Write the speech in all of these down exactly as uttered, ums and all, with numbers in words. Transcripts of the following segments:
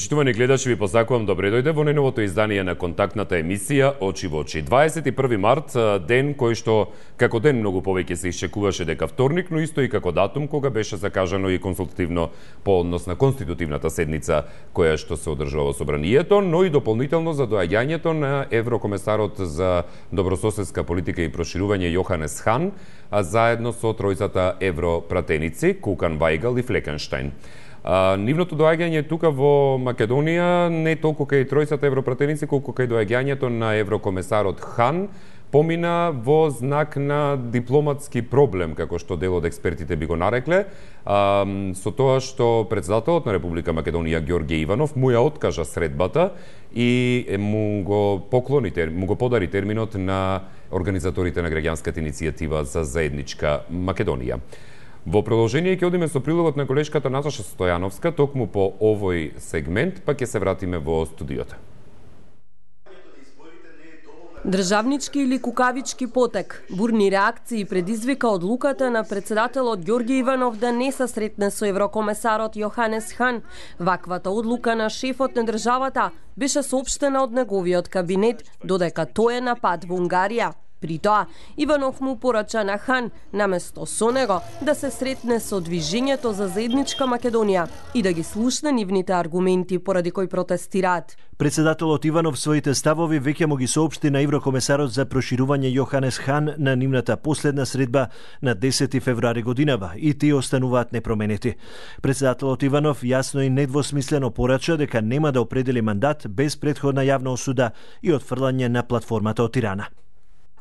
Почитувани гледачи, ви посакувам добре дојде во најновото издание на контактната емисија Очи во очи. дваесет и први март, ден кој што како ден многу повеќе се исчекуваше дека вторник, но исто и како датум кога беше закажано и консултативно по однос на конститутивната седница која што се одржува во собранието, но и дополнително за доаѓањето на еврокомесарот за добрососедска политика и проширување Јоханес Хан, а заедно со тројцата европратеници Кукан, Вајгал и Флекенштајн. А, нивното доаѓање тука во Македонија не толку кај тројцата европратеници, колку кај доаѓањето на еврокомесарот Хан помина во знак на дипломатски проблем, како што дел од експертите би го нарекле, а, со тоа што председателот на Република Македонија Ѓорѓе Иванов му ја откажа средбата и му го поклони, му го подари терминот на организаторите на граѓанската иницијатива за заедничка Македонија. Во продолжение ќе одиме со прилогот на колешката Наташа Стојановска, токму по овој сегмент, па ќе се вратиме во студиото. Државнички или кукавички потек, бурни реакции предизвика одлуката на председателот Ѓорѓе Иванов да не се сретне со еврокомесарот Јоханес Хан. Ваквата одлука на шефот на државата беше соопштена од неговиот кабинет, додека тој е на пат во Унгарија. При тоа, Иванов му порача на Хан, наместо со него, да се сретне со движењето за заедничка Македонија и да ги слушне нивните аргументи поради кои протестираат. Председателот Иванов своите ставови веќе му ги соопшти на еврокомесарот за проширување Јоханес Хан на нивната последна средба на десети февруари годинава и тие остануваат непроменети. Председателот Иванов јасно и недвосмислено порача дека нема да определи мандат без претходна јавна осуда и отфрлање на платформата од Тирана.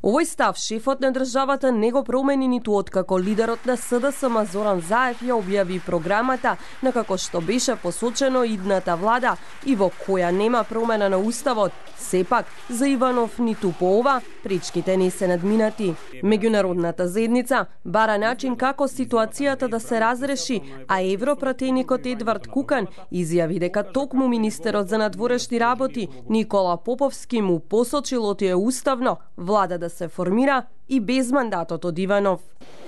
Овој став шефот на државата не го промени ниту откако лидерот на СДСМ Зоран Заев ја објави програмата на како што беше посочено идната влада и во која нема промена на уставот. Сепак, за Иванов ниту по ова пречките не се надминати. Меѓународната заедница бара начин како ситуацијата да се разреши, а европратеникот Едвард Кукан изјави дека токму министерот за надворешни работи Никола Поповски му посочил оти е уставно влада да се формира и без мандатот од Иванов.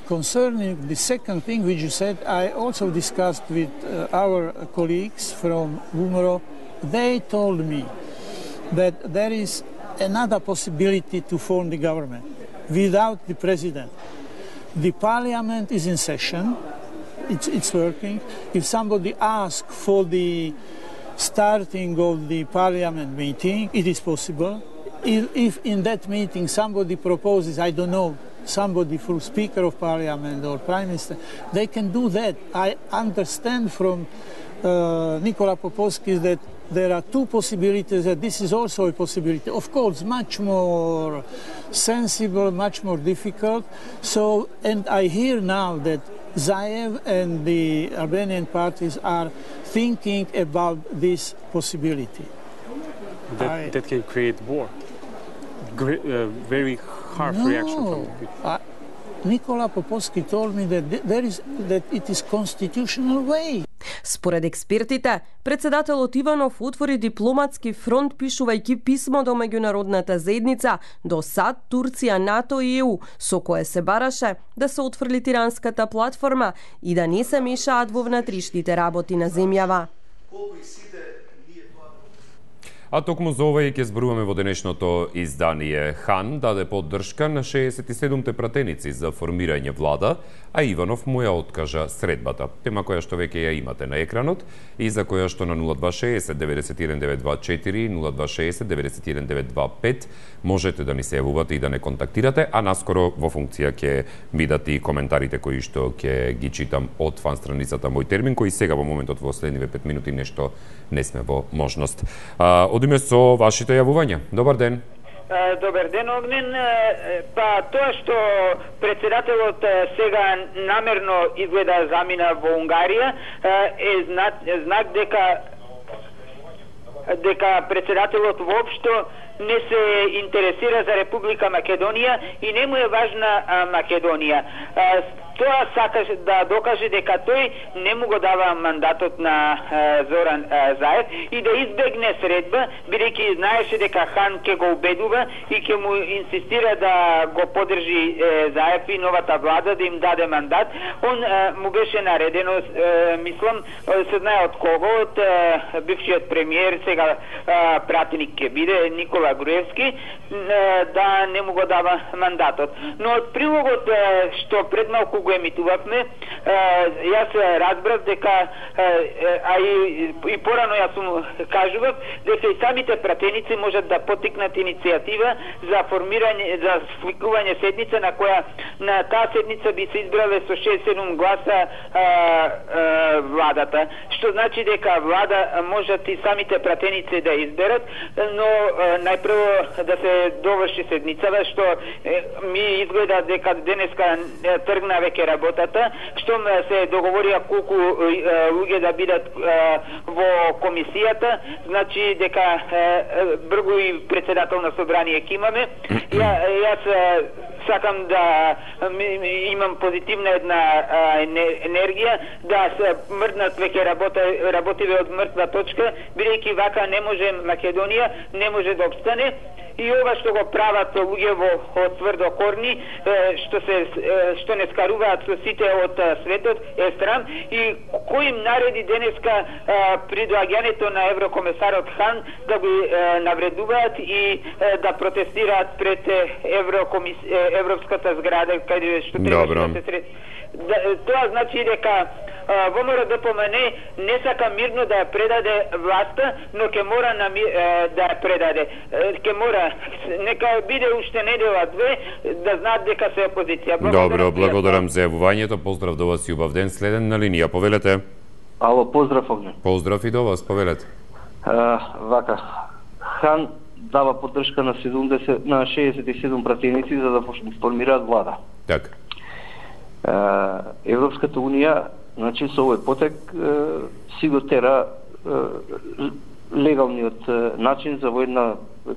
Concerning the second thing which you said, I also discussed with uh, our colleagues from Umro. They told me that there is another possibility to form the government without the president. The parliament is in session, it's, it's working. If somebody asks for the starting of the parliament meeting, it is possible. If in that meeting somebody proposes, I don't know, somebody for Speaker of Parliament or Prime Minister, they can do that. I understand from uh, Nikola Popovski that there are two possibilities, that this is also a possibility. Of course, much more sensible, much more difficult. So, and I hear now that Zaev and the Albanian parties are thinking about this possibility. That, I, that can create war. Great, uh, very harsh no, reaction from the people. I, Nikola Popovski told me that there is that it is constitutional way. Според експертите, председателот Иванов отвори дипломатски фронт пишувајќи писмо до меѓународната заедница, до САД, Турција, НАТО и Е У, со кое се бараше да се отфрли тиранската платформа и да не се мешаат во внатрешните работи на земјава. А токму за ова и ќе зборуваме во денешното издание. Хан даде поддршка на шеесет и седумте пратеници за формирање влада, а Иванов му ја откажа средбата. Тема која што веќе ја имате на екранот и за која што на нула два шеесет деветдесет и еден деветстотини и дваесет и четири, нула два шеесет деветдесет и еден деветстотини и дваесет и пет можете да ни се јавувате и да не контактирате, а наскоро во функција ќе видат и коментарите кои што ќе ги читам од фан страницата Мој термин, кои сега во моментот во следниве пет минути нешто не сме во можност. А, одиме со вашите јавувања. Добар ден. Добар ден, Огнен. Па тоа што председателот сега намерно изгледа замина во Унгарија е знак, знак дека дека председателот воопшто не се интересира за Република Македонија и не му е важна Македонија. тоа сакаше да докаже дека тој не му го дава мандатот на а, Зоран а, Заев и да избегне средба, бидејќи знаеше дека Хан ќе го убедува и ќе му инсистира да го поддржи е, Заев и новата влада да им даде мандат. Он е, му беше наредено, е, мислам, се знае од кого, од е, бившиот премиер, сега е, пратеник ќе биде Никола Груевски, е, да не му го дава мандатот. Но од прилогот е, што пред малку го емитувавме, е, јас разбрав дека, е, а и, и порано јас му кажував, дека и самите пратеници можат да потикнат иницијатива за формирање, за свикување седница на која на таа седница би се избрале со шест седум гласа а, а, владата, што значи дека влада можат и самите пратеници да изберат, но а, најпрво да се доврши седницава, што е, ми изгледа дека денеска е, тргна веќе работата, што се договорија колку е, луѓе да бидат е, во комисијата, значи дека е, бргу и председател на собрание ќе имаме. Ја, јас сакам да имам позитивна една а, енергија, да се мрднат веќе работа, работиве од мртва точка, бидејќи вака не може Македонија, не може да обстане. И ова што го прават луѓе во од тврдокорни, што се што не скаруваат со сите од светот, е срам. И кој им нареди денеска при доаѓањето на еврокомесарот Хан да го навредуваат и да протестираат пред Еврокомис... Европската зграда, каде што треба да се сред... Да, тоа значи дека ВМРО ДПМН не сака мирно да ја предаде власта, но ќе мора на, да ја предаде. Ќе мора, нека биде уште недела две, да знаат дека се опозиција. Добро, благодарам за јавувањето. Поздрав до вас и убав ден. Следен на линија, повелете. Ало, поздрав Огне. Поздрав и до вас, повелете. А, вака, Хан дава поддршка на седумдесет на шеесет и седум пратеници за да формираат влада. Така. Европската унија, значи со овој потек си го тера легалниот начин за во една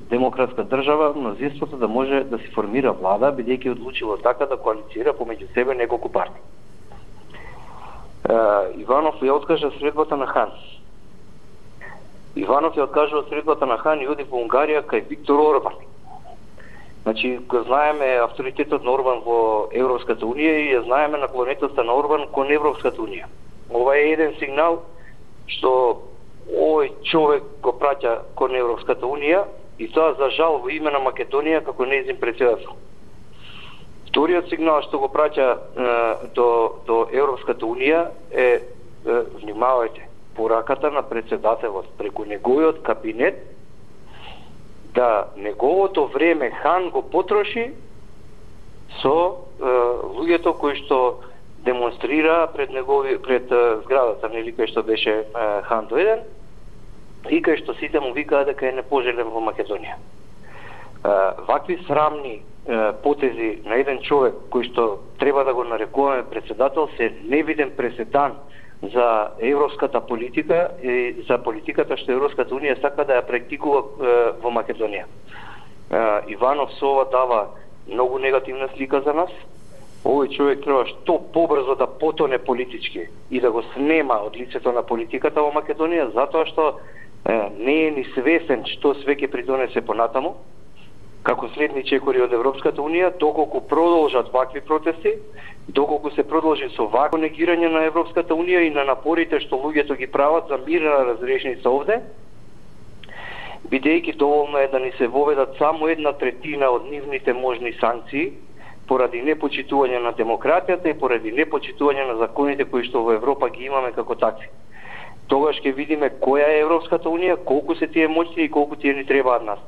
демократска држава мнозинството да може да се формира влада, бидејќи одлучило така да коалицира помеѓу себе неколку партии. Иванов ја откажа средбата на Хан. Иванов ја откажува средбата на Хан и оди во Унгарија кај Виктор Орбан. Значи, го знаеме авторитетот на Орбан во Европската унија и ја знаеме наклонетоста на Орбан кон Европската унија. Ова е еден сигнал што овој човек го праќа кон Европската унија и тоа за жал во име на Македонија како нејзин претседател. Вториот сигнал што го праќа е, до, до Европската унија е, е внимавајте, пораката на претседателот преку неговиот кабинет да неговото време Хан го потроши со е, луѓето кои што демонстрира пред негови пред е, зградата, нели, кај што беше е, Хан доеден и кај што сите му викаа дека е непожелен во Македонија. Е, вакви срамни е, потези на еден човек кој што треба да го нарекуваме председател се невиден преседан за европската политика и за политиката што Европската унија сака да ја практикува е, во Македонија. Е, Иванов со ова дава многу негативна слика за нас. Овој човек треба што побрзо да потоне политички и да го снема од лицето на политиката во Македонија, затоа што е, не е ни свесен што све ќе придонесе понатаму како следни чекори од Европската унија, доколку продолжат вакви протести, доколку се продолжи со вакво негирање на Европската унија и на напорите што луѓето ги прават за мирна разрешница овде, бидејќи доволно е да ни се воведат само една третина од нивните можни санкции поради непочитување на демократијата и поради непочитување на законите кои што во Европа ги имаме како такви. Тогаш ќе видиме која е Европската унија, колку се тие моќни и колку тие ни требаат нас.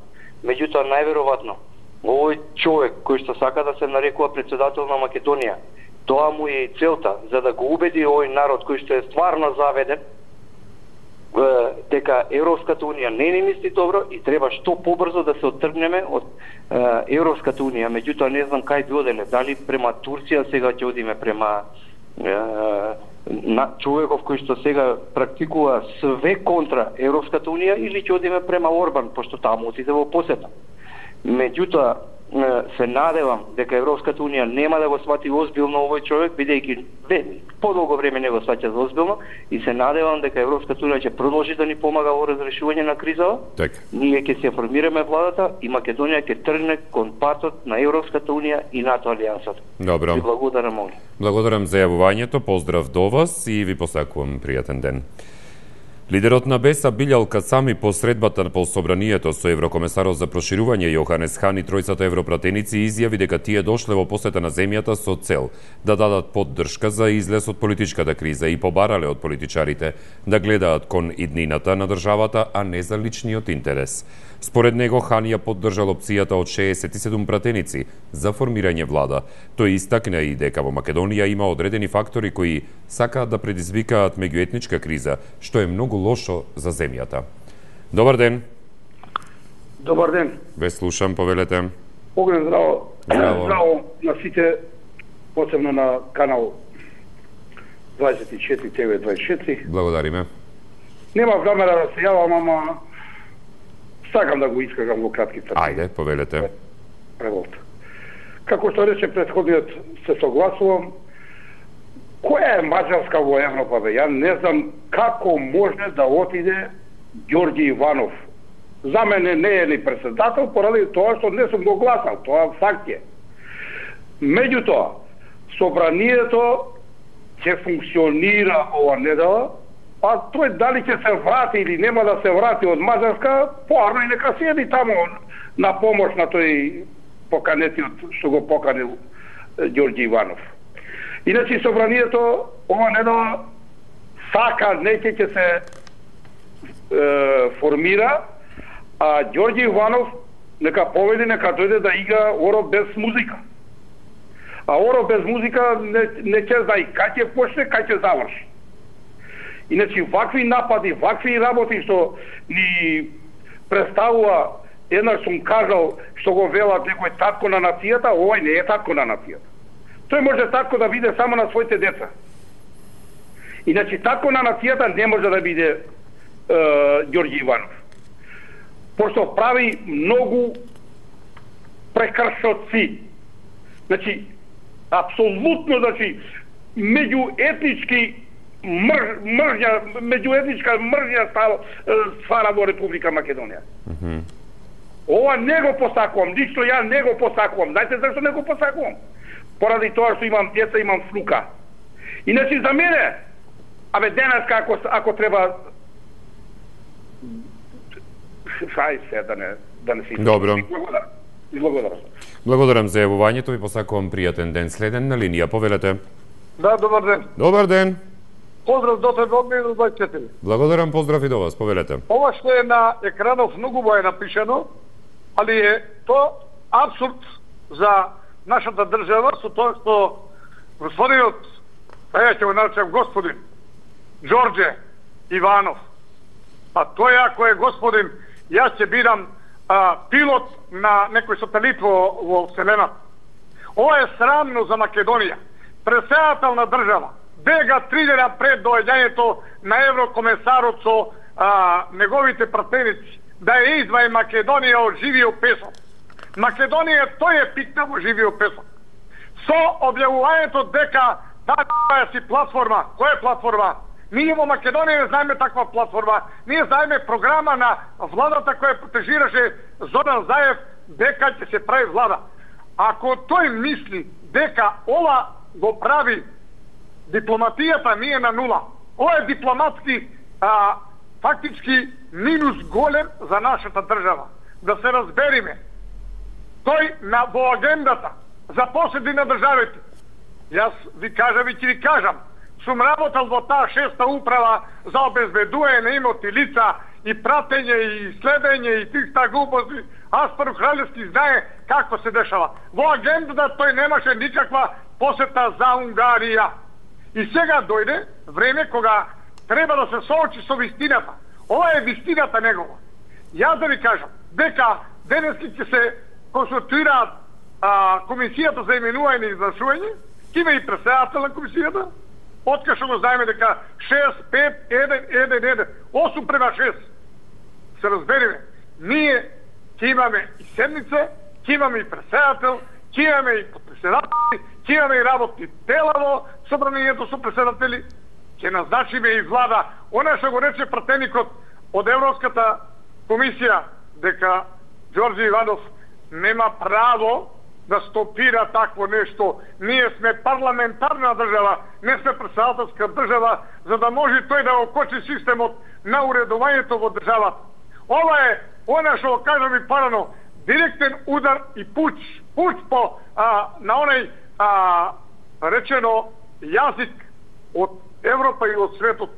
Меѓутоа, најверојатно, овој човек кој што сака да се нарекува председател на Македонија, тоа му е и целта, за да го убеди овој народ кој што е стварно заведен, дека Европската унија не ни мисли добро и треба што побрзо да се оттргнеме од Европската унија. Меѓутоа, не знам кај би оделе, дали према Турција, сега ќе одиме према на човеков кој што сега практикува све контра Европската унија, или ќе одиме према Орбан, пошто таму отиде во посета. Меѓутоа, се надевам дека Европската унија нема да го свати озбилно овој човек, бидејќи подолго време не го сваќа за озбилно, и се надевам дека Европската унија ќе продолжи да ни помага во разрешување на кризава. Так. Ние ќе се формираме владата и Македонија ќе тргне кон патот на Европската унија и НАТО алијансата. Добро. Ви благодарам многу. Благодарам за јавувањето, поздрав до вас и ви посакувам пријатен ден. Лидерот на Беса Билјал Касами по средбата по собранието со еврокомесарот за проширување Јоханес Хан и тројцата европратеници изјави дека тие дошле во посета на земјата со цел да дадат поддршка за излез од политичката криза и побарале од политичарите да гледаат кон иднината на државата, а не за личниот интерес. Според него, Хан ја поддржал опцијата од шеесет и седум пратеници за формирање влада. Тој истакна и дека во Македонија има одредени фактори кои сакаат да предизвикаат меѓуетничка криза, што е многу лошо за земјата. Добар ден. Добар ден. Ве слушам, повелете. Огнен здраво. Здраво. Здраво на сите, посебно на канал дваесет и четири Т В дваесет и четири. Благодариме. Нема време да се јавам, ама сакам да го искажам во кратки црти. Ајде, повелете. Револта. Како што рече претходниот, се согласувам. Која е Маđarска во Европа, бе? Ја не знам како може да отиде Ѓорѓи Иванов. За мене не е ни председател, поради тоа што не сум го гласал. Тоа факт е. Меѓутоа, собранието ќе функционира ова недела, а тој дали ќе се врати или нема да се врати од Маđarска, поарно и нека седи таму на помош на тој поканетиот што го поканил Ѓорѓи Иванов. Иначе собранието ова недела сака неќе ќе се е, формира, а Ѓорѓи Иванов нека поведи, нека дојде да игра Оро без музика. А Оро без музика не, не ќе знае кај ќе почне, кај ќе заврши. Иначе вакви напади, вакви работи што ни представува, еднаш сум кажал што го велат некој татко на нацијата, овој не е татко на нацијата. Тој може татко да биде само на своите деца. Иначе татко на нацијата не може да биде е, Ѓорѓи Иванов. Пошто прави многу прекршоци. Значи, апсолутно, значи, меѓуетнички мрж, мржња, меѓуетничка мржња ствара во Република Македонија. Mm-hmm. Ова не го посакувам, ништо ја не го посакувам. Знаете зашто не го посакувам? Поради тоа што имам деца, имам внука. Иначе за мене, абе денеска ако, ако треба Шај се да не да не си. Добро. Благодарам. Благодарам. Благодарам за јавувањето и посакувам пријатен ден. Следен на линија, повелете. Да, добар ден. Добар ден. Поздрав до тебе од Меѓу дваесет и четири. Благодарам, поздрав и до вас, повелете. Ова што е на екранов многу е напишано, али е то апсурд за нашата држава со тоа што господинот, а ја ќе го наречам господин Ѓорѓе Иванов, а тој ако е господин, јас ќе бидам а, пилот на некој сателит во, во Вселената. Ова е срамно за Македонија. Председател на држава, бега три дена пред доаѓањето на еврокомесарот со а, неговите пратеници, да ја изваи Македонија од живиот песок. Македонија тој е пикна во живиот песок. Со објавувањето дека таа си платформа, која е платформа? Ние во Македонија не знаеме таква платформа. Ние знаеме програма на владата која протежираше Зоран Заев дека ќе се прави влада. Ако тој мисли дека ова го прави дипломатијата, ние на нула. Ова е дипломатски а, фактички минус голем за нашата држава. Да се разбериме. Тој на во агендата за поседи на државите. Јас ви кажам и ќе ви кажам. Сум работал во таа шеста управа за обезбедување на имоти лица и пратење и следење и тих глупости. Аспар Кралевски знае како се дешава. Во агендата тој немаше никаква посета за Унгарија. И сега дојде време кога треба да се соочи со вистината. Ова е вистината негова. Јас да ви кажам дека денески ќе се консултираат комисијата за именување и извршување, ќе има и председател на комисијата. Откај што го знаеме дека шест, пет, еден, еден, еден, осум према шест. Се разбериме, ние ќе имаме и седница ќе имаме и председател, ќе имаме и подпредседатели, ќе имаме и работни тела во собранието со председатели, ќе назначиме и влада. Она што го рече пратеникот од Европската комисија дека Ѓорѓе Иванов нема право да стопира такво нешто. Ние сме парламентарна држава, не сме председателска држава, за да може тој да окочи системот на уредувањето во државата. Ова е, она што го кажам и парано, директен удар и пуч, пуч по а, на онај а, речено јазик од Европа и од светот.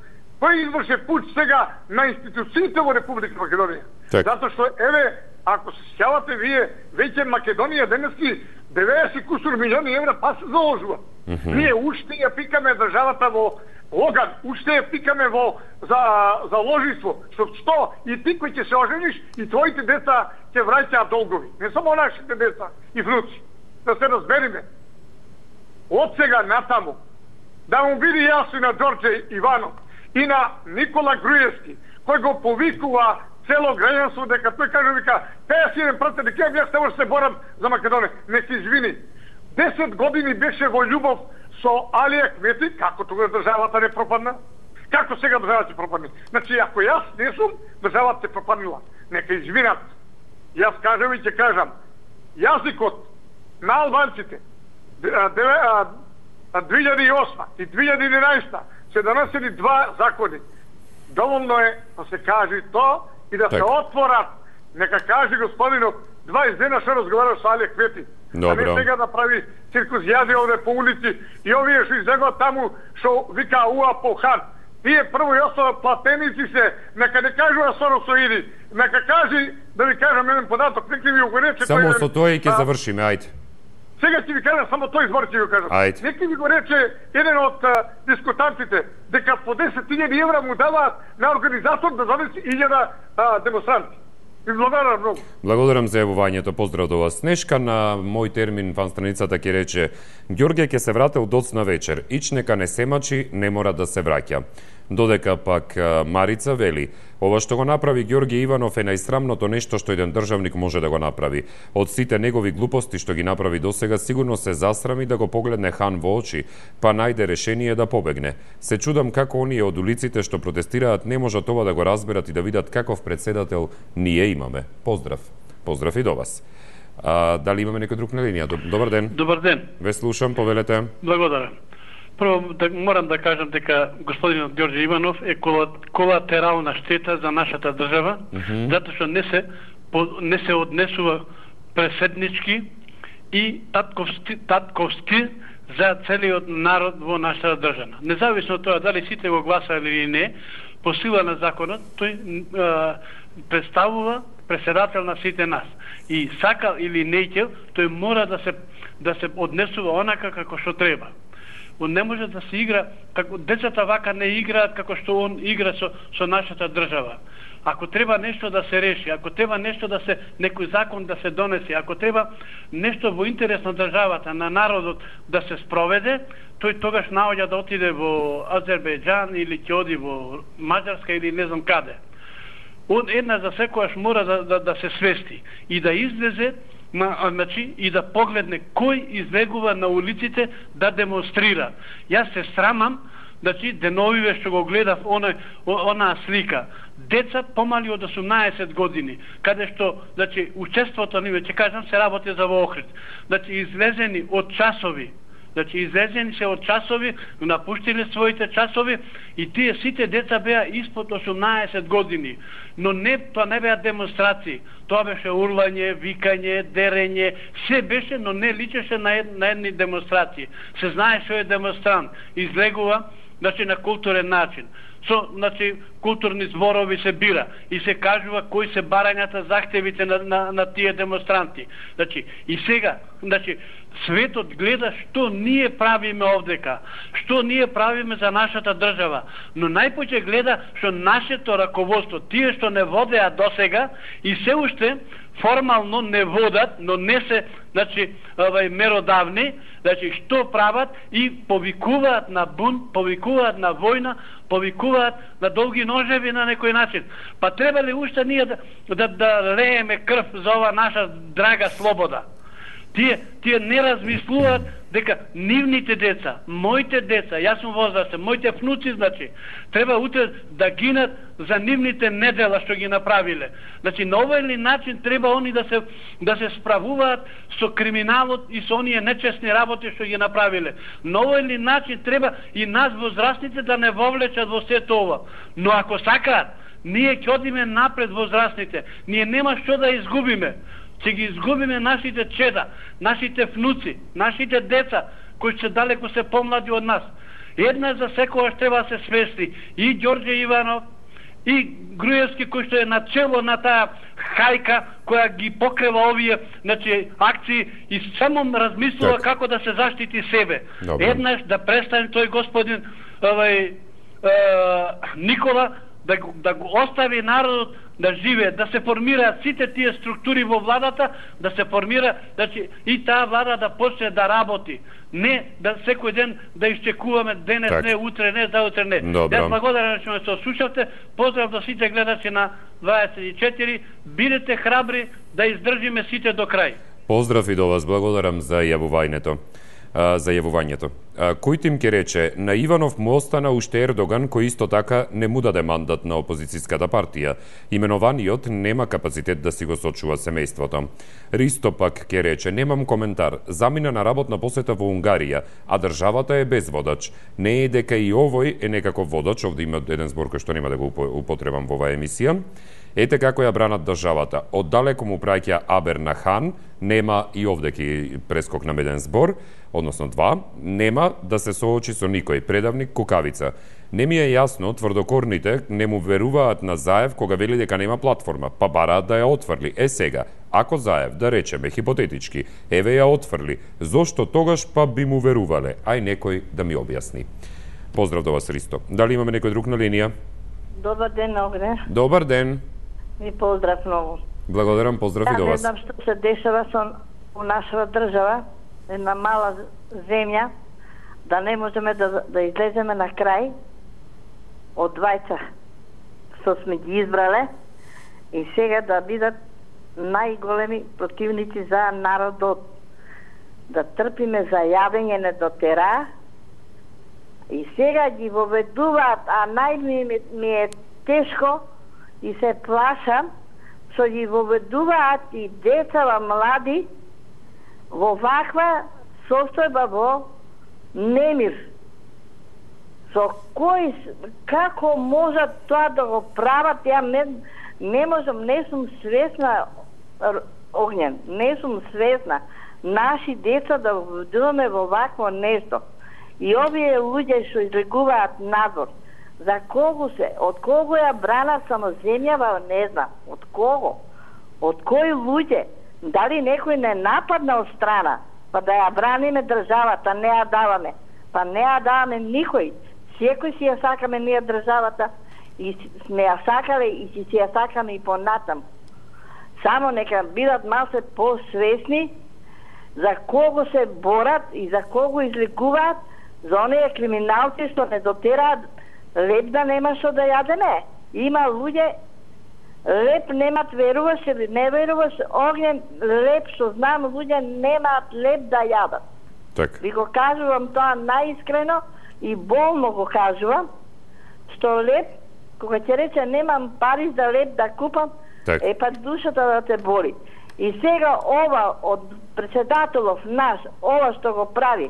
Тој изврше пуч сега на институциите во Република Македонија. Так. Затоа што, еве, ако се сеќавате вие, веќе Македонија денески деветдесет кусур милиони евра па се заложува. Mm -hmm. Ние уште ја пикаме државата во оган, уште ја пикаме во за за ложиство, што што и ти кој ќе се ожениш и твоите деца ќе враќаат долгови. Не само нашите деца и внуци. Да се разбериме. Од сега натаму да му биде јасно на Ѓорѓе Иванов и на Никола Груевски, кој го повикува цело граѓанство дека тој каже вика, те ја сидем прате дека јас се може се борам за Македонија. Не се извини. десет години беше во љубов со Алија Кмети, како тогаш државата не пропадна? Како сега државата ќе пропадне? Значи, ако јас не сум, државата се пропаднила. Нека извинат. Јас кажам и ќе кажам, јазикот на албанците две илјади и осма и две илјади и единаесета се донесени два закони. Доволно е да се каже тоа и да так. се отворат. Нека каже господинот дваесет дена што разговараш со Алија Кмети. А не сега да прави циркузјади овде по улици и овие што излегоа таму што вика уа по хан. Тие прво и основа платеници се, нека не кажува Соросоиди, нека кажи, да ви кажам еден податок, нека ви го рече... Само со тоа и ќе завршиме, ајде. Сега ќе ви кажам, само тој збор ќе ви кажам. Ајде. Нека ви го рече еден од а, дискутантите, дека по десет илјади евра му даваат на организатор да донесе илјада демонстранти. И благодарам многу. Благодарам за јавувањето. Поздрав до вас. Снешка на мој термин фан страницата ќе рече: Ѓорѓе ќе се врате од доцна вечер. Ич нека не се мачи, не мора да се враќа. Додека пак Марица вели: ова што го направи Ѓорѓе Иванов е најсрамното нешто што еден државник може да го направи. Од сите негови глупости што ги направи досега, сигурно се засрами да го погледне хан во очи, па најде решение да побегне. Се чудам како оние од улиците што протестираат не можат ова да го разберат и да видат каков председател ние имаме. Поздрав. Поздрав и до вас. А, дали имаме некој друг на линија? Добар ден. Добар ден. Ве слушам, повелете. Благодарам. Прво, да, морам да кажам дека господинот Ѓорѓе Иванов е колатерална штета за нашата држава, mm -hmm. затоа што не се не се однесува преседнички и татковски, татковски за целиот народ во нашата држава. Независно од тоа дали сите го гласали или не, по сила на законот, тој а, представува преседател на сите нас. И сакал или неќел, тој мора да се да се однесува онака како што треба. Он не може да се игра, како децата вака не играат како што он игра со, со нашата држава. Ако треба нешто да се реши, ако треба нешто да се, некој закон да се донесе, ако треба нешто во интерес на државата, на народот да се спроведе, тој тогаш наоѓа да отиде во Азербејџан или ќе оди во Маđarска или не знам каде. Он една за секојаш мора да, да, да се свести и да излезе на, значи, и да погледне кој излегува на улиците да демонстрира. Јас се срамам, значи, деновиве што го гледав она, онаа слика. Деца помали од осумнаесет години, каде што, значи, учеството ниве, ќе кажам, се работи за во Охрид. Значи, излезени од часови, значи, излезени се од часови, напуштиле своите часови и тие сите деца беа испод осумнаесет години. Но не, тоа не беа демонстрации. Тоа беше урлање, викање, дерење, се беше, но не личеше на, ед, на едни демонстрации. Се знае што е демонстрант. Излегува, значи, на културен начин. Со, значи, културни зборови се бира и се кажува кои се барањата, захтевите на, на, на тие демонстранти. Значи, и сега, значи, светот гледа што ние правиме овдека, што ние правиме за нашата држава, но најпоќе гледа што нашето раководство, тие што не водеа досега и се уште формално не водат, но не се, значи, овај меродавни, значи што прават и повикуваат на бунт, повикуваат на војна, повикуваат на долги ножеви на некој начин. Па треба ли уште ние да, да, да лееме крв за ова наша драга слобода? Тие, тие не размислуваат дека нивните деца, моите деца, јас сум возрастен, моите внуци, значи, треба утре да гинат за нивните недела што ги направиле. Значи, на овој ли начин треба они да се да се справуваат со криминалот и со оние нечестни работи што ги направиле. На овој ли начин треба и нас возрастните да не вовлечат во сето ова. Но ако сакаат, ние ќе одиме напред возрастните. Ние нема што да изгубиме. Ќе ги изгубиме нашите чеда, нашите внуци, нашите деца, кои се далеко се помлади од нас. Една за секогаш треба да се свести и Ѓорѓе Иванов, и Груевски, кој што е начело на таа хајка која ги покрива овие, значи, акции и само размислува так. Како да се заштити себе. Добре. Еднаш да престане тој господин овај е, Никола да, да го остави народот да живее, да се формираат сите тие структури во владата, да се формира, значи и таа влада да почне да работи. Не да секој ден да исчекуваме денес так. Не, утре не, за утре не. Јас благодарам што ме слушавте. Поздрав до сите гледачи на дваесет и четири. Бидете храбри да издржиме сите до крај. Поздрав и до вас, благодарам за јавувањето. за јавувањето. Кој тим ке рече, на Иванов му остана уште Ердоган, кој исто така не му даде мандат на опозицијската партија. Именованиот нема капацитет да си го сочува семејството. Ристо пак ке рече, немам коментар, замина на работна посета во Унгарија, а државата е без водач. Не е дека и овој е некаков водач, овде има еден збор кој што нема да го употребам во оваа емисија. Ете како ја бранат државата. Оддалеку му праќа Абер на Хан, нема и овде ки прескокнам еден збор, односно два, нема да се соочи со никој, предавник кукавица. Не ми е јасно, тврдокорните не му веруваат на Заев кога вели дека нема платформа, па бараат да ја отфрли. Е сега, ако Заев, да речеме, хипотетички, еве ја отфрли, зошто тогаш па би му верувале? Ај некој да ми објасни. Поздрав до вас, Ристо. Дали имаме некој друг на линија? Добар ден, Огне. Добар ден. Ви поздрав многу. Благодарам, поздрав да, и до вас. Не знам што се дешава со нашата држава, една мала земја, да не можеме да, да излеземе на крај од двајца што сме ги избрале и сега да бидат најголеми противници за народот. Да трпиме за јавење не дотера и сега ги воведуваат, а најми ми е тешко и се плашам, што ги воведуваат и децава млади во ваква состојба во немир. Со кој, како можат тоа да го прават, ја не, не можам, не сум свесна, Огнен, не сум свесна, наши деца да воведуваме во вакво нешто. И овие луѓе што излегуваат надвор, за кого се, од кого ја бранат само земјава, не знам, од кого, од кои луѓе, дали некој не нападна од страна, па да ја браниме државата, не ја даваме, па не ја даваме никој, секој си ја сакаме ние државата и сме ја сакале и си си ја сакаме и понатам. Само нека бидат малце посвесни за кого се борат и за кого изликуваат, за оние криминалци што не дотераат леп да нема што да јадеме. Има луѓе, леп немат, веруваш или не веруваш, Огнен, леп што знам, луѓе немаат леп да јадат. Так. Ви го кажувам тоа најискрено и болно го кажувам, што леп, кога ќе рече немам пари за леп да купам, так. Е па душата да те боли. И сега ова од председателов наш, ова што го прави,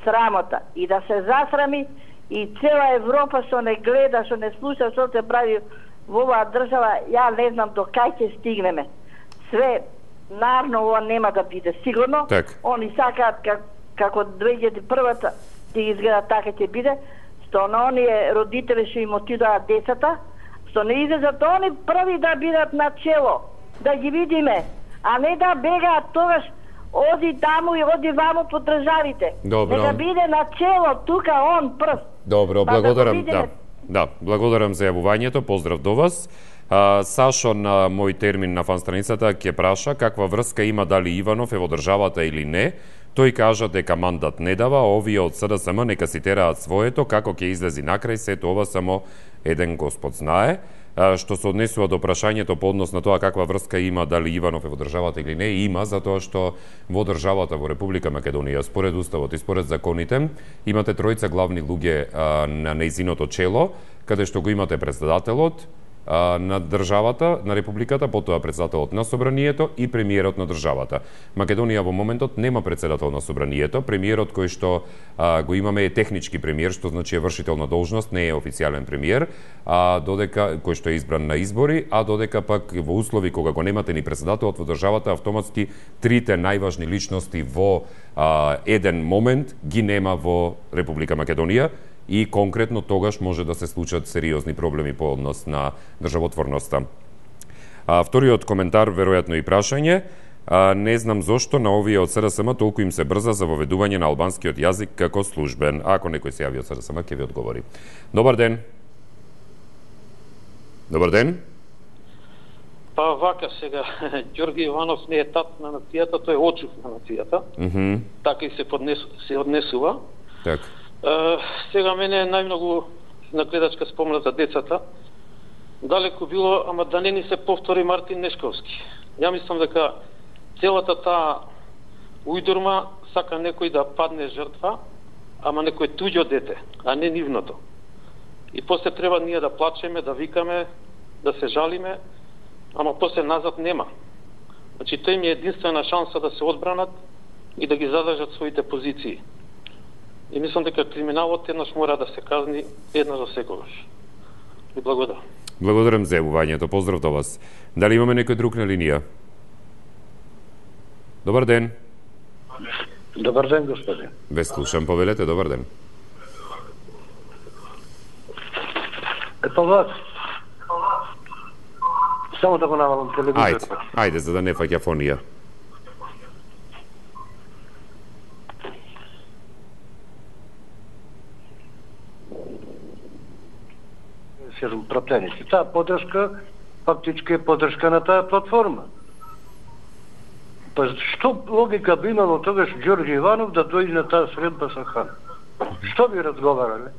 срамота, и да се засрами, и цела Европа што не гледа, што не слуша што се прави во оваа држава, ја не знам до кај ќе стигнеме. Све, нарно, ова нема да биде сигурно. Так. Они сакаат как, како две илјади и прва ќе изгледа така ќе биде, што на оние родители што им отидоа децата, што не излезат они први да бидат на чело, да ги видиме, а не да бегаат тогаш оди таму и оди ваму по државите. Добро. Нека биде на чело, тука он прв. Добро, па благодарам. Да, да, да, благодарам за јавувањето, поздрав до вас. Сашо на мој термин на фан страницата ќе праша каква врска има дали Иванов е во државата или не. Тој кажа дека мандат не дава, а овие од СДСМ нека си тераат своето, како ќе излези накрај, сето ова само еден Господ знае. Што се однесува до прашањето по однос на тоа каква врска има дали Иванов е во државата или не, има, затоа што во државата, во Република Македонија, според уставот и според законите, имате тројца главни луѓе на нејзиното чело, каде што го имате председателот на државата, на републиката, потоа председателот на собранието и премиерот на државата. Македонија во моментот нема председател на собранието, премиерот кој што а, го имаме е технички премиер, што значи е вршител на должност, не е официјален премиер, а додека кој што е избран на избори, а додека пак во услови кога го немате ни председателот во државата, автоматски трите најважни личности во а, еден момент ги нема во Република Македонија. И конкретно тогаш може да се случат сериозни проблеми по однос на државотворноста. А, вториот коментар, веројатно и прашање, а, не знам зошто на овие од СДСМ толку им се брза за воведување на албанскиот јазик како службен. Ако некој се јави од СДСМ, ќе ви одговори. Добар ден. Добар ден. Па вака сега, Ѓорги Иванов не е тат на нацијата, тој е очув на нацијата. Mm -hmm. Така и се, поднесу, се однесува. Так. Uh, сега мене најмногу на гледачка спомна за децата. Далеко било, ама да не ни се повтори Мартин Нешковски. Ја мислам дека целата таа ујдурма сака некој да падне жртва, ама некој туѓо дете, а не нивното. И после треба ние да плачеме, да викаме, да се жалиме, ама после назад нема. Значи, тој ми е единствена шанса да се одбранат и да ги задржат своите позиции. И мислам дека криминалот еднаш мора да се казни еднаш за секогаш. И благодарам. Благодарам за јавувањето. Поздрав до вас. Дали имаме некој друг на линија? Добар ден. Добар ден, господин. Ве слушам, повелете, добар ден. Ето вас. Само да го навалам телевизор. Ајде, ајде, за да не фаќа фонија. Пратеници. Таа поддршка фактички е поддршка на таа платформа. Па што логика би имало тогаш Ѓорѓе Иванов да дојде на таа средба со Хан? Што би разговарале?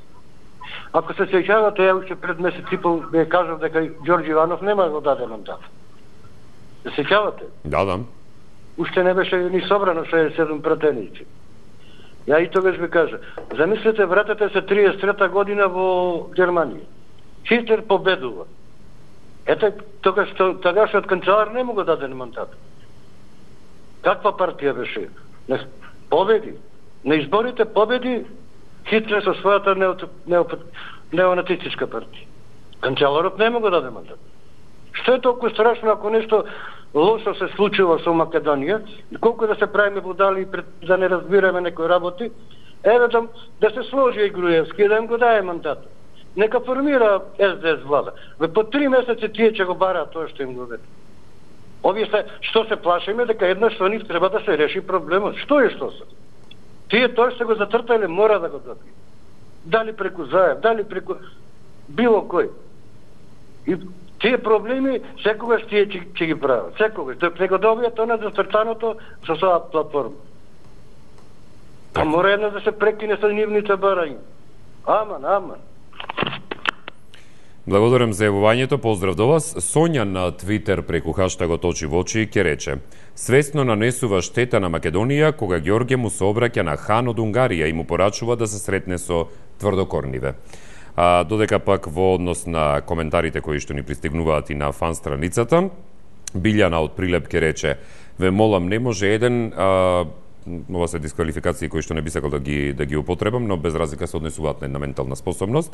Ако се сеќавате, ја уште пред месец и пол би кажав дека Ѓорѓе Иванов нема го даде мандат. Се сеќавате? Да, да. Уште не беше ни собрано шеесет и седум пратеници. Ја и тогаш би кажа, замислете, вратете се триесет и трета година во Германија. Хитлер победува. Ете, тогаш тогашниот канцелар не му го даде мандат. Каква партија беше? Не, победи. На изборите победи Хитлер со својата неонацистичка партија. Канцеларот не му го даде мандат. Што е толку страшно ако нешто лошо се случува со Македонија, колку да се правиме будали пред, да не разбираме некои работи, еве да, да се сложи и Груевски и да им го даде мандат. Нека формира Ес Де Ес влада. Ве по три месеци тие ќе го бараат тоа што им го даде. Овие се, што се плашиме дека еднаш со нив треба да се реши проблемот. Што е што се? Тие тоа што го затртале мора да го добие. Дали преку Заев, дали преку било кој. И тие проблеми секогаш тие ќе, ќе ги прават. Секогаш. Док не го добијат она зацртаното со своја платформа. Па мора една да се прекине со нивните барања. Аман, аман. Благодарам за јавувањето, поздрав до вас. Сонја на Твитер преку хаштагот Очи во очи ќе рече: свесно нанесува штета на Македонија кога Ѓорѓе му се обраќа на Хан од Унгарија и му порачува да се сретне со тврдокорниве. А, додека пак во однос на коментарите кои што ни пристигнуваат и на фан страницата, Билјана од Прилеп ќе рече: ве молам, не може еден а, ова се дисквалификации кои што не би сакал да ги да ги употребам, но без разлика се однесуваат на една ментална способност,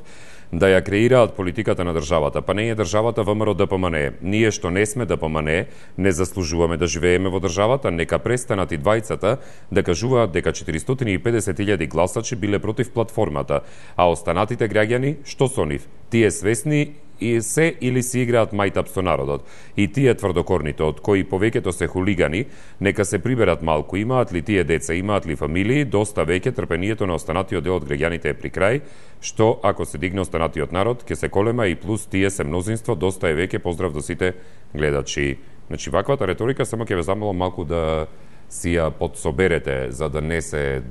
да ја креираат политиката на државата. Па не е државата ВМРО Д П М Н Е. Ние што не сме Д П М Н Е, не заслужуваме да живееме во државата, нека престанат и двајцата да кажуваат дека четиристотини и педесет илјади гласачи биле против платформата, а останатите граѓани, што со нив? Тие свесни и се или си играат мајтап со народот. И тие тврдокорните, од кои повеќето се хулигани, нека се приберат малку. Имаат ли тие деца, имаат ли фамилии, доста веќе трпението на останатиот дел од граѓаните е при крај, што ако се дигне останатиот народ, ќе се колема и плюс тие се мнозинство, доста е веќе. Поздрав до сите гледачи. Значи, ваквата риторика само ќе ве замолам малку да си ја подсоберете, за да не се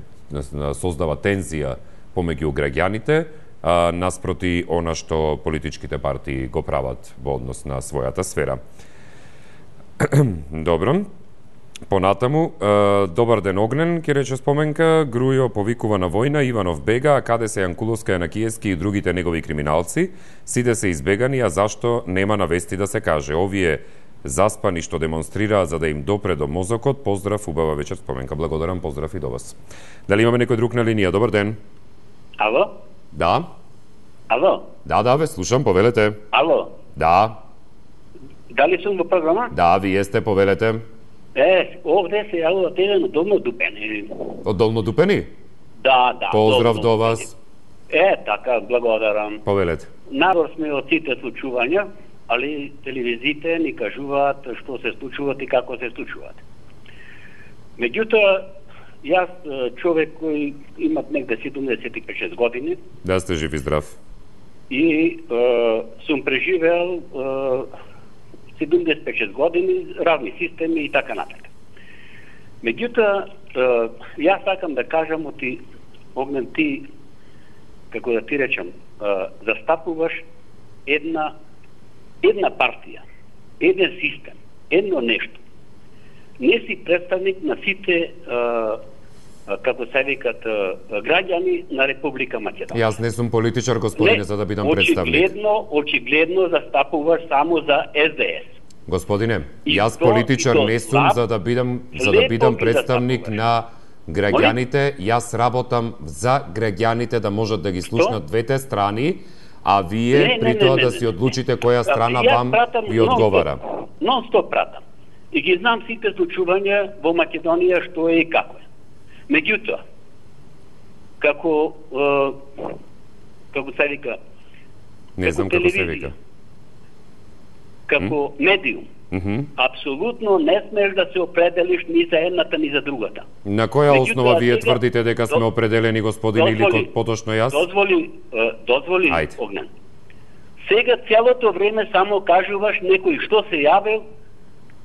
создава тензија помеѓу граѓаните, а, наспроти она што политичките партии го прават во однос на својата сфера. Добро. Понатаму, добар ден Огнен, ке рече споменка, Грујо повикува на војна, Иванов бега, а каде се Јанкуловска, Јанакиевски и другите негови криминалци? Сите се избегани, а зашто нема на вести да се каже? Овие заспани што демонстрираат за да им допре до мозокот. Поздрав, убава вечер, споменка. Благодарам, поздрав и до вас. Дали имаме некој друг на линија? Добар ден. Ало? Да. Ало? Да, да, ве слушам, повелете. Ало? Да. Дали сум во програма? Да, вие сте, повелете. Е, овде се јавува од Долно Долно Дупени. Од Долно Дупени? Да, да. Поздрав Долно до вас. Е, така, благодарам. Повелете. Народ сме од сите случувања, али телевизиите ни кажуваат што се случуваат и како се случуваат. Меѓутоа, јас човек кој имат негде седумдесет и пет години. Да сте жив и здрав. И е, сум преживеал е, седумдесет и пет години, разни системи и така натака. Меѓутоа, јас сакам да кажам оти, Огнен, ти, како да ти речам, е, застапуваш една една партија, еден систем, едно нешто. Не си представник на сите, е, како се викат, граѓани на Република Македонија. Јас не сум политичар, господине, не, за да бидам представник. Очигледно, очигледно застапуваш само за С Д С. Господине, јас политичар не сум за да бидам за да бидам представник на граѓаните. Јас работам за граѓаните да можат да ги слушнат двете страни, а вие не, при тоа да си одлучите која страна вам ви одговара. Нон-стоп пратам. И ги знам сите случувања во Македонија што е и како е. Меѓутоа, како е, како се вика, не знам како се вика. Како mm? медиум, mm -hmm. апсолутно не смеш да се определиш ни за едната ни за другата. На која Меѓутоа, основа вие сега, тврдите дека сме определени, господин, дозволи, или поточно јас? Дозволи, дозволи, Огнен. Сега целото време само кажуваш некој што се јавил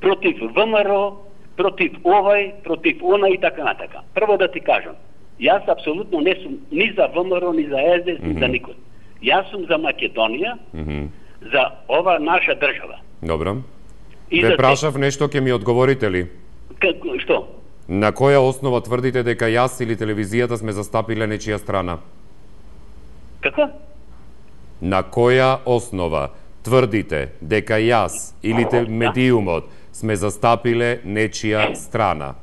против В М Р, против овај, против она и така натака. Прво да ти кажам, јас апсолутно не сум ни за В М Р, ни за С Д С, mm -hmm. ни за никој. Јас сум за Македонија, mm -hmm. за ова наша држава. Добро. И Ве прашав те... нешто, ќе ми одговорите ли? Како, што? На која основа тврдите дека јас или телевизијата сме застапиле нечија страна? Како? На која основа тврдите дека јас или те медиумот сме застапиле нечија страна?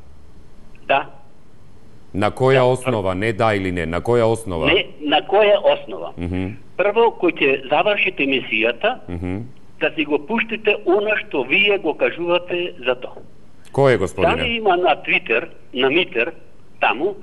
Да. На која да, основа? Не да или не, на која основа? Не, на која основа? Mm -hmm. Прво, кој ќе завршите емисијата, mm -hmm. да си го пуштите она што вие го кажувате за тоа. Кој е, господине? Дали има на Твитер, на Митер, таму,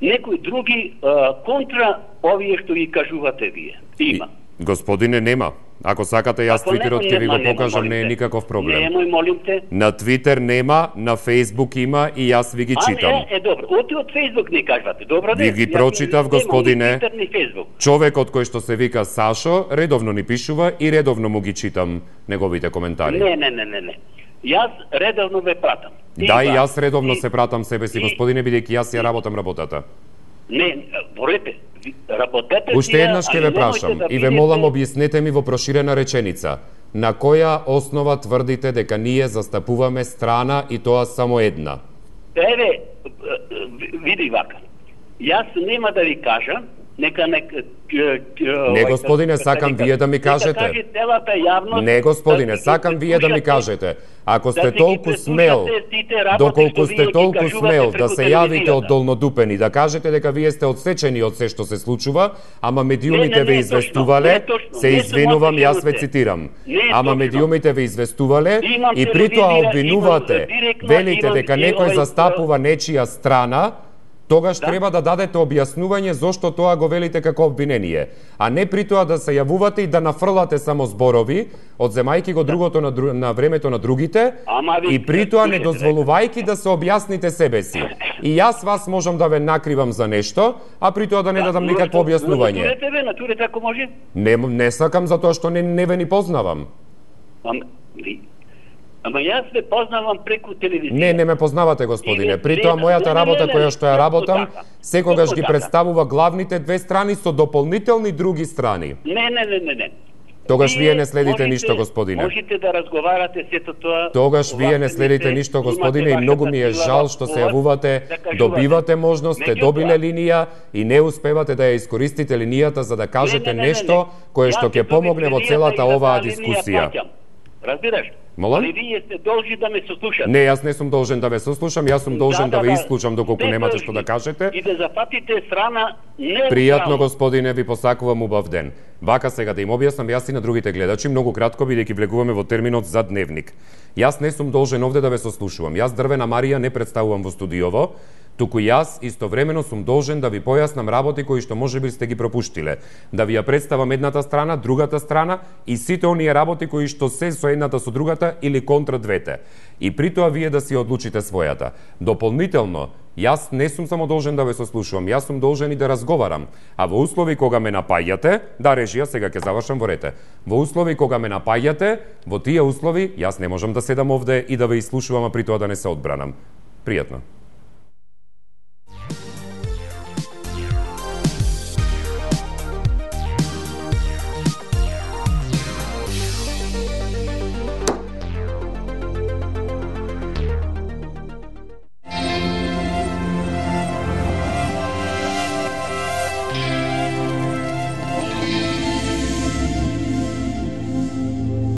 некои други а, контра овие што ги кажувате вие? Има. И, господине, нема. Ако сакате, јас Ако Твитерот ќе ви го нема, покажам, нема, не е никаков проблем. Немој, молим те. На Твитер нема, на Фейсбук има и јас ви ги читам. А, не, е добро. Оти од Фейсбук не кажвате. Добро, ви ги прочитав, господине. Фейсбук. Човекот кој што се вика Сашо, редовно ни пишува и редовно му ги читам неговите коментари. Не, не, не, не, не. Јас редовно ве пратам. Да, и јас редовно и... се пратам себе си, господине, бидејќи јас ја работам работата. Не, борете, работете. Уште еднаш ќе ве прашам да и ве молам објаснете ми во проширена реченица. На која основа тврдите дека ние застапуваме страна и тоа само една? Еве, види вака. Јас нема да ви кажам, нека нека Не, господине, сакам вие да ми кажете. Не, господине, сакам вие да ми кажете. Ако сте толку смел, доколку сте толку смел да се јавите од Долнодупени, да кажете дека вие сте одсечени од се што се случува, ама медиумите ве известувале, се извинувам, јас ве цитирам. Ама медиумите ве известувале и при тоа обвинувате, велите дека некој застапува нечија страна, тогаш Да. треба да дадете објаснување зошто тоа го велите како обвинение, а не при тоа да се јавувате и да нафрлате само зборови, одземајќи го другото на, дру... на времето на другите, Ама ви- и при тоа не слушайте, дозволувајќи да се објасните себе си. И јас вас можам да ве накривам за нешто, а при тоа да не дадам никакво објаснување. Натурете ве, натурете ако може. Не, не сакам затоа што не, не ве ни познавам. Ама, ви- ама јас ве познавам преку телевизија. Не, не ме познавате, господине. И- При тоа не, мојата не, работа не, не, која што ја точно работам, така. секогаш Точно ги така. представува главните две страни со дополнителни други страни. Не, не, не, не, не. Тогаш вие не следите можете- ништо, господине. Можете да разговарате сето тоа. Тогаш вие не Овака следите не се- ништо, имате господине, и многу ми е вашата жал сила што во се вас јавувате, да кажувате. добивате можност, сте Меѓутоа- добиле линија и не успевате да ја искористите линијата за да кажете Не, не, не, не, нешто не. кое што Јас ќе ќе помогне добив во линијата целата и за оваа таа линија дискусија. плаќам. Разбираш? Молам? Али вие сте должни да ме сослушате. Не, јас не сум должен да ве сослушам, јас сум должен да, Да, ве да, исклучам доколку сте немате должни. што да кажете. И да зафатите страна не Пријатно, господине, ви посакувам убав ден. Вака сега да им објаснам јас и на другите гледачи, многу кратко, бидејќи влегуваме во терминот за дневник. Јас не сум должен овде да ве сослушувам. Јас Дрвена Марија не представувам во студиово, туку јас истовремено сум должен да ви појаснам работи кои што можеби сте ги пропуштиле. Да ви ја представам едната страна, другата страна и сите оние работи кои што се со едната со другата или контра двете. И при тоа вие да си одлучите својата. Дополнително, јас не сум само должен да ве сослушувам, јас сум должен и да разговарам. А во услови кога ме напаѓате, да, режија, сега ќе завршам во рете. Во услови кога ме напаѓате, во тие услови јас не можам да седам овде и да ве изслушувам, а при тоа да не се одбранам. Пријатно.